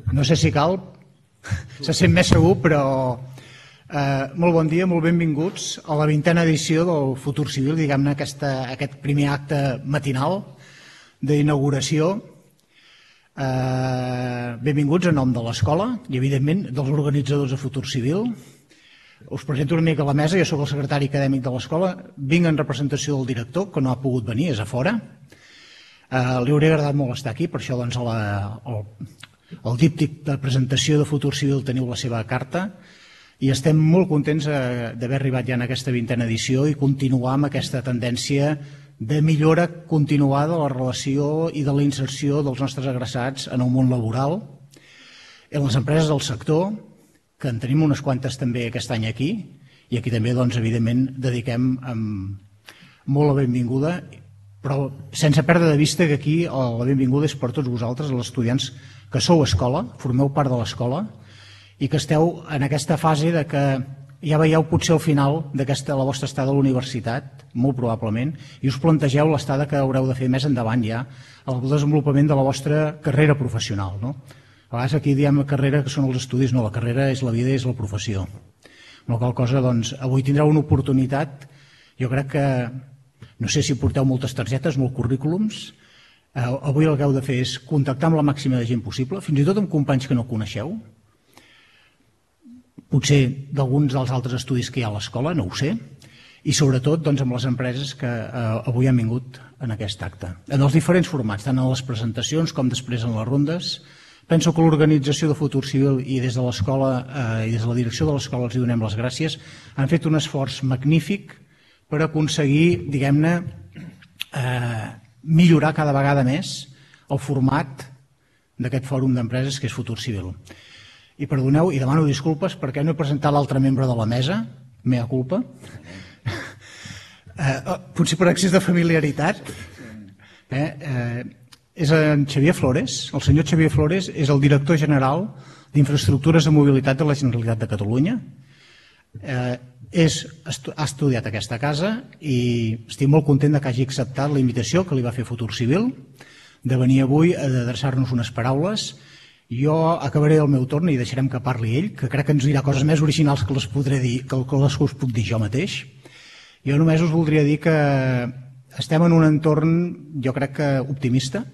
No sé si cal, se sent més segur, però molt bon dia, molt benvinguts a la 20a edició del Futur Civil, diguem-ne aquest primer acte matinal d'inauguració. Benvinguts en nom de l'escola i, evidentment, dels organitzadors de Futur Civil. Us presento una mica a la mesa, jo soc el secretari acadèmic de l'escola, vinc en representació del director, que no ha pogut venir, és a fora. Li hauria agradat molt estar aquí, per això doncs, el díptic de presentació de Futur Civil teniu la seva carta i estem molt contents d'haver arribat ja en aquesta 20a edició i continuar amb aquesta tendència de millora continuada de la relació i de la inserció dels nostres agressats en el món laboral, en les empreses del sector, que en tenim unes quantes també aquest any aquí, i aquí també, doncs, evidentment, dediquem molt la benvinguda, però sense perdre de vista que aquí la benvinguda és per tots vosaltres, els estudiants que sou escola, formeu part de l'escola, i que esteu en aquesta fase de que ja veieu potser el final de la vostra estada a la universitat, molt probablement, i us plantegeu l'estada que haureu de fer més endavant ja al desenvolupament de la vostra carrera professional, no? A vegades aquí diem la carrera que són els estudis, no, la carrera és la vida i és la professió. Amb la qual cosa, doncs, avui tindreu una oportunitat, jo crec que, no sé si porteu moltes targetes, molts currículums, avui el que heu de fer és contactar amb la màxima de gent possible, fins i tot amb companys que no coneixeu, potser d'alguns dels altres estudis que hi ha a l'escola, no ho sé, i sobretot doncs, amb les empreses que avui han vingut en aquest acte. En els diferents formats, tant en les presentacions com després en les rondes. Penso que l'organització de Futur Civil i des de l'escola i des de la direcció de l'escola els donem les gràcies. Han fet un esforç magnífic per aconseguir, diguem-ne, millorar cada vegada més el format d'aquest fòrum d'empreses que és Futur Civil. I perdoneu, i demano disculpes perquè no he presentat l'altre membre de la mesa, mea culpa, potser per excés de familiaritat. És en Xavier Flores. El senyor Xavier Flores és el director general d'Infraestructures de Mobilitat de la Generalitat de Catalunya. Ha estudiat a aquesta casa i estic molt content que hagi acceptat la invitació que li va fer Futur Civil de venir avui a adreçar-nos unes paraules. Jo acabaré el meu torn i deixarem que parli ell, que crec que ens dirà coses més originals que les podré dir, que les us puc dir jo mateix. Jo només us voldria dir que estem en un entorn, jo crec que optimista.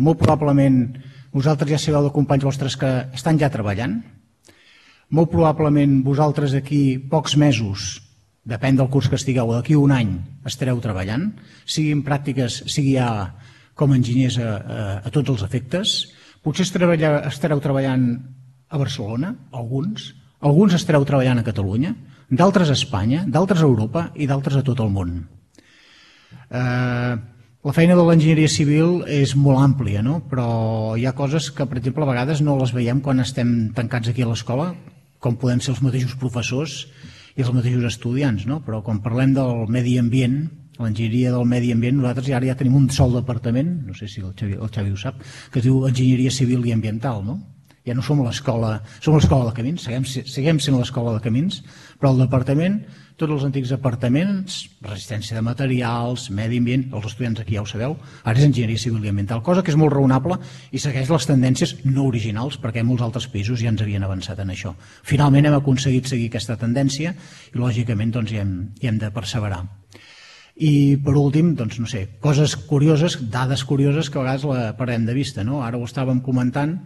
Molt probablement vosaltres ja sabeu de companys vostres que estan ja treballant. Molt probablement vosaltres d'aquí pocs mesos, depèn del curs que estigueu, d'aquí un any estareu treballant, sigui en pràctiques, sigui ja com a enginyers a tots els efectes. Potser estareu treballant a Barcelona, alguns estareu treballant a Catalunya, d'altres a Espanya, d'altres a Europa i d'altres a tot el món. La feina de l'enginyeria civil és molt àmplia, no? Però hi ha coses que, per exemple, a vegades no les veiem quan estem tancats aquí a l'escola, com poden ser els mateixos professors i els mateixos estudiants, no? Però quan parlem del medi ambient, l'enginyeria del medi ambient, nosaltres ara ja tenim un sol departament, no sé si el Xavi ho sap, que es diu Enginyeria Civil i Ambiental, no? Ja no som l'escola de camins, seguim sent l'escola de camins, però el departament, tots els antics departaments, resistència de materials, medi ambient, els estudiants aquí ja ho sabeu, ara és enginyeria civil i ambiental, cosa que és molt raonable i segueix les tendències no originals, perquè molts altres països ja ens havien avançat en això. Finalment hem aconseguit seguir aquesta tendència i lògicament doncs, hi hem de perseverar. I per últim, doncs no sé, coses curioses, dades curioses que a vegades la perdem de vista, no? Ara ho estàvem comentant,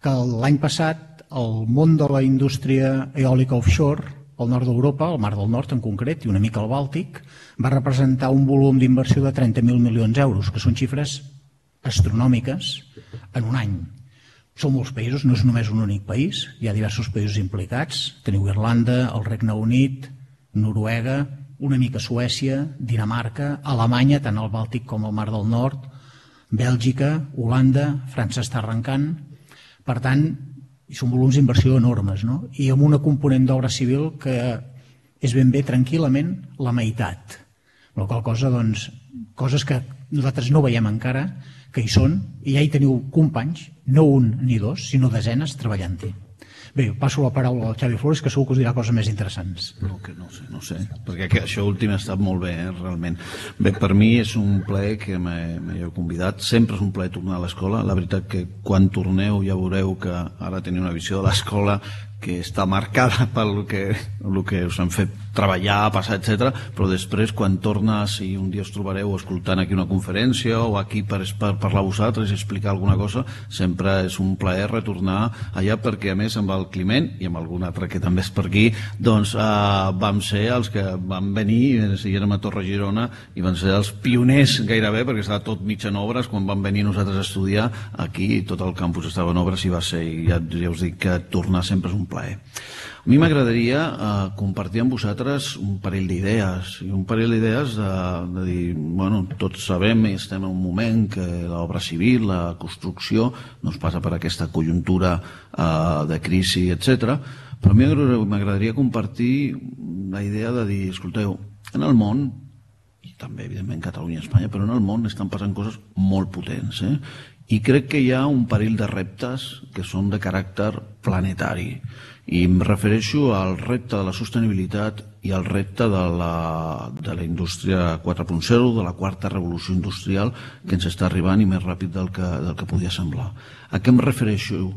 que l'any passat el món de la indústria eòlica offshore, al nord d'Europa, al Mar del Nord en concret, i una mica al Bàltic, va representar un volum d'inversió de 30.000 milions d'euros, que són xifres astronòmiques en un any. Són molts països, no és només un únic país, hi ha diversos països implicats, teniu Irlanda, el Regne Unit, Noruega, una mica Suècia, Dinamarca, Alemanya, tant al Bàltic com al Mar del Nord, Bèlgica, Holanda, França està arrencant. Per tant, són volums d'inversió enormes, no? I amb una component d'obra civil que és ben bé tranquil·lament la meitat. La qual cosa, doncs, coses que nosaltres no veiem encara, que hi són, i ja hi teniu companys, no un ni dos, sinó desenes treballant-hi. Bé, passo la paraula al Xavi Flores, que segur que us dirà coses més interessants. No sé, perquè això últim ha estat molt bé, realment. Bé, per mi és un plaer que m'heu convidat. Sempre és un plaer tornar a l'escola. La veritat que quan torneu ja veureu que ara teniu una visió de l'escola que està marcada pel que us han fet treballar, passar, etc. Però després, quan tornes i un dia us trobareu escoltant aquí una conferència o aquí per parlar a vosaltres i explicar alguna cosa, sempre és un plaer retornar allà, perquè a més amb el Climent i amb algun altre que també és per aquí, doncs vam ser els que vam venir, si érem a Torre Girona, i van ser els pioners gairebé, perquè estava tot mig en obres quan vam venir nosaltres a estudiar aquí, tot el campus estava en obres i va ser, i ja us dic que tornar sempre és un plaer. A mi m'agradaria compartir amb vosaltres un parell d'idees, i un parell d'idees de dir, bueno, tots sabem i estem en un moment que l'obra civil, la construcció, no es passa per aquesta conjuntura de crisi, etc. Però a mi m'agradaria compartir la idea de dir, escolteu, en el món, i també evidentment Catalunya i Espanya, però en el món estan passant coses molt potents, i crec que hi ha un parell de reptes que són de caràcter planetari, i em refereixo al repte de la sostenibilitat i al repte de la indústria 4.0, de la quarta revolució industrial que ens està arribant i més ràpid del que podia semblar. A què em refereixo?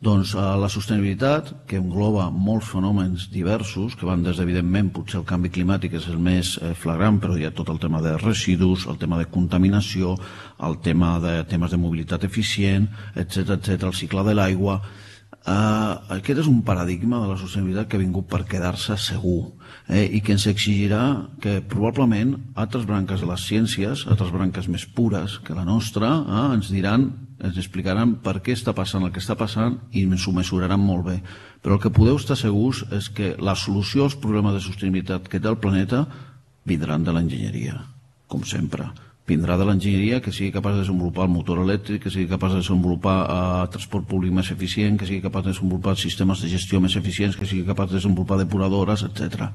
Doncs a la sostenibilitat, que engloba molts fenòmens diversos, que van des evidentment, potser el canvi climàtic és el més flagrant, però hi ha tot el tema de residus, el tema de contaminació, el tema de temes de mobilitat eficient, etc., el cicle de l'aigua. Aquest és un paradigma de la sostenibilitat que ha vingut per quedar-se segur, i que ens exigirà que probablement altres branques de les ciències, altres branques més pures que la nostra, ens explicaran per què està passant el que està passant i ens ho mesuraran molt bé. Però el que podeu estar segurs és que la solució als problemes de sostenibilitat que té el planeta vindran de l'enginyeria, com sempre. Vindrà de l'enginyeria que sigui capaç de desenvolupar el motor elèctric, que sigui capaç de desenvolupar transport públic més eficient, que sigui capaç de desenvolupar sistemes de gestió més eficients, que sigui capaç de desenvolupar depuradores, etc.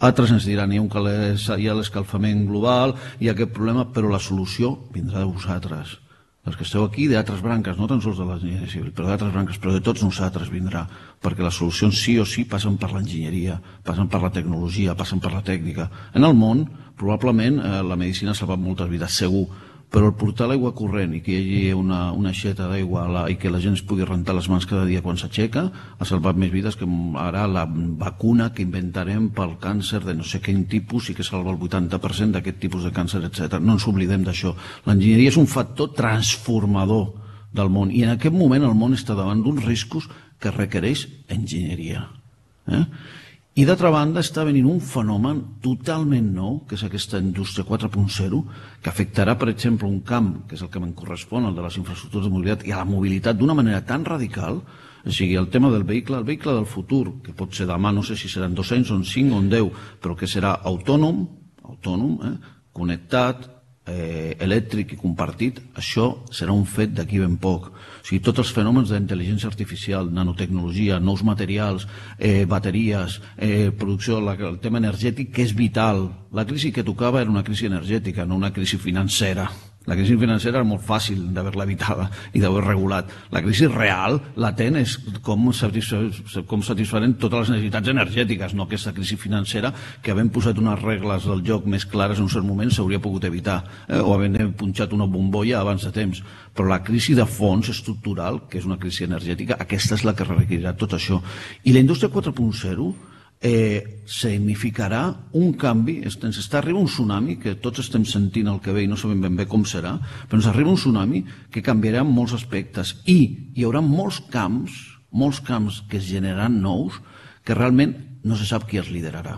Altres ens diran hi ha l'escalfament global, hi ha aquest problema, però la solució vindrà de vosaltres. Els que esteu aquí, d'altres branques, no tan sols de l'enginyeria civil, però d'altres branques, però de tots nosaltres vindrà, perquè les solucions sí o sí passen per l'enginyeria, passen per la tecnologia, passen per la tècnica. En el món, probablement, la medicina ha salvat moltes vides, segur, però el portar l'aigua corrent i que hi hagi una aixeta d'aigua i que la gent es pugui rentar les mans cada dia quan s'aixeca ha salvat més vides que ara la vacuna que inventarem pel càncer de no sé quin tipus i que salva el 80% d'aquest tipus de càncer, etc. No ens oblidem d'això. L'enginyeria és un factor transformador del món i en aquest moment el món està davant d'uns riscos que requereix enginyeria. I d'altra banda està venint un fenomen totalment nou, que és aquesta indústria 4.0, que afectarà, per exemple, un camp, que és el que me'n correspon, el de les infraestructures de mobilitat, i a la mobilitat d'una manera tan radical, o sigui, el tema del vehicle del futur, que pot ser demà, no sé si seran 2 anys, o 5 o 10, però que serà autònom, connectat, elèctric i compartit, això serà un fet d'aquí ben poc. O sigui, tots els fenòmens d'intel·ligència artificial, nanotecnologia, nous materials, bateries, producció, el tema energètic, que és vital. La crisi que tocava era una crisi energètica, no una crisi financera. La crisi financera era molt fàcil d'haver-la evitada i d'haver regulat. La crisi real, latent, és com satisfarem totes les necessitats energètiques, no aquesta crisi financera que havent posat unes regles del joc més clares en un cert moment s'hauria pogut evitar, o havent punxat una bombolla abans de temps. Però la crisi de fons estructural, que és una crisi energètica, aquesta és la que requerirà tot això. I la indústria 4.0 significarà un canvi, ens està arribant un tsunami, que tots estem sentint el que ve i no sabem ben bé com serà, però ens arriba un tsunami que canviarà en molts aspectes i hi haurà molts camps que es generaran nous que realment no se sap qui els liderarà.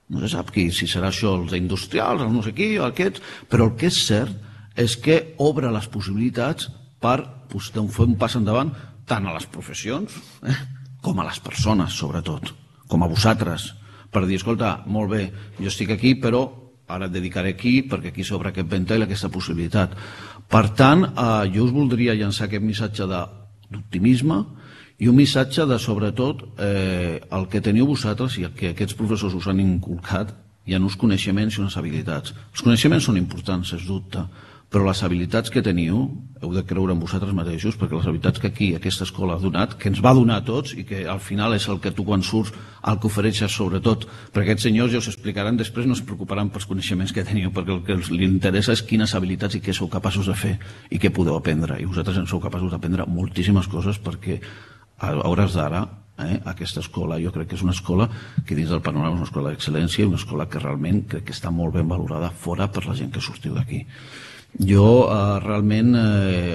No se sap qui, si serà això els industrials, els no sé qui, aquests, però el que és cert és que obre les possibilitats per fer un pas endavant tant a les professions com a les persones, sobretot, com a vosaltres, per dir, escolta, molt bé, jo estic aquí, però ara et dedicaré aquí, perquè aquí s'obre aquest ventall, aquesta possibilitat. Per tant, jo us voldria llançar aquest missatge d'optimisme i un missatge de, sobretot, el que teniu vosaltres i el que aquests professors us han inculcat, hi ha uns coneixements i unes habilitats. Els coneixements són importants, sens dubte, però les habilitats que teniu heu de creure en vosaltres mateixos, perquè les habilitats que aquí aquesta escola ha donat, que ens va donar a tots i que al final és el que tu quan surts el que ofereixes sobretot, perquè aquests senyors ja us explicaran després, no es preocuparan pels coneixements que teniu, perquè el que els interessa és quines habilitats i què sou capaços de fer i què podeu aprendre, i vosaltres en sou capaços d'aprendre moltíssimes coses, perquè a hores d'ara aquesta escola jo crec que és una escola que dins del panorama és una escola d'excel·lència i una escola que realment crec que està molt ben valorada fora per la gent que sortiu d'aquí. Jo realment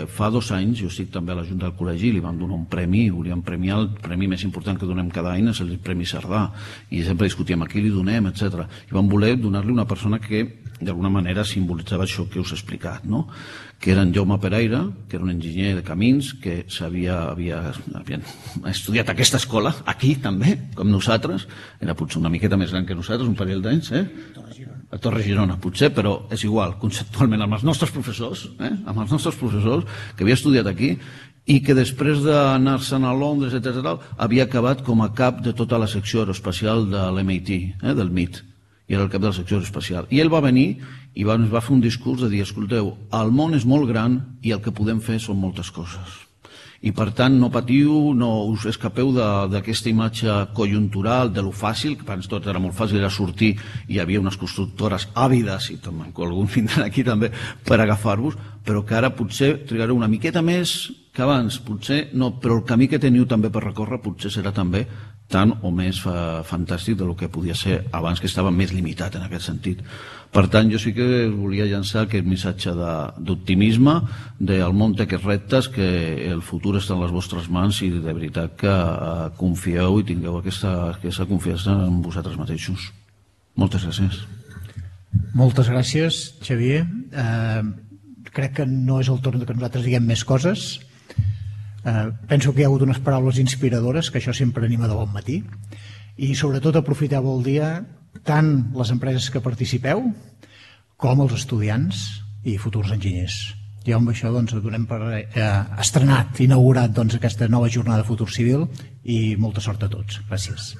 fa 2 anys, jo estic també a la Junta del Col·legi, li vam donar un premi, volíem premiar el premi més important que donem cada any, és el Premi Cerdà, i sempre discutíem a qui li donem, etc. I vam voler donar-li una persona que d'alguna manera simbolitzava això que us he explicat, no? Que era en Jaume Pereira, que era un enginyer de camins, que havia estudiat aquesta escola, aquí també, com nosaltres, era potser una miqueta més gran que nosaltres, un parell d'anys, a Torre Girona, potser, però és igual, conceptualment, amb els nostres professors, que havia estudiat aquí, i que després d'anar-se'n a Londres, etc., havia acabat com a cap de tota la secció aeroespacial de l'MIT, del MIT, i era el cap de la secció aeroespacial. I ell va venir i ens va fer un discurs de dir, escolteu, el món és molt gran i el que podem fer són moltes coses. I per tant no patiu, no us escapeu d'aquesta imatge conjuntural, de lo fàcil, que per tot era molt fàcil, era sortir, hi havia unes constructores àvides, i també algun vindrà aquí també, per agafar-vos, però que ara potser trigareu una miqueta més que abans, potser no, però el camí que teniu també per recórrer potser serà també tant o més fantàstic del que podia ser abans, que estava més limitat en aquest sentit. Per tant, jo sí que volia llançar aquest missatge d'optimisme, del món té aquests reptes, que el futur està en les vostres mans i de veritat que confieu i tingueu aquesta confiança en vosaltres mateixos. Moltes gràcies. Moltes gràcies, Xavier. Crec que no és el torn que nosaltres diguem més coses. Penso que hi ha hagut unes paraules inspiradores, que això sempre anima de bon matí, i sobretot aprofiteu el dia tant les empreses que participeu com els estudiants i futurs enginyers. I amb això donem per estrenat, inaugurat aquesta nova jornada de Futur Civil, i molta sort a tots. Gràcies.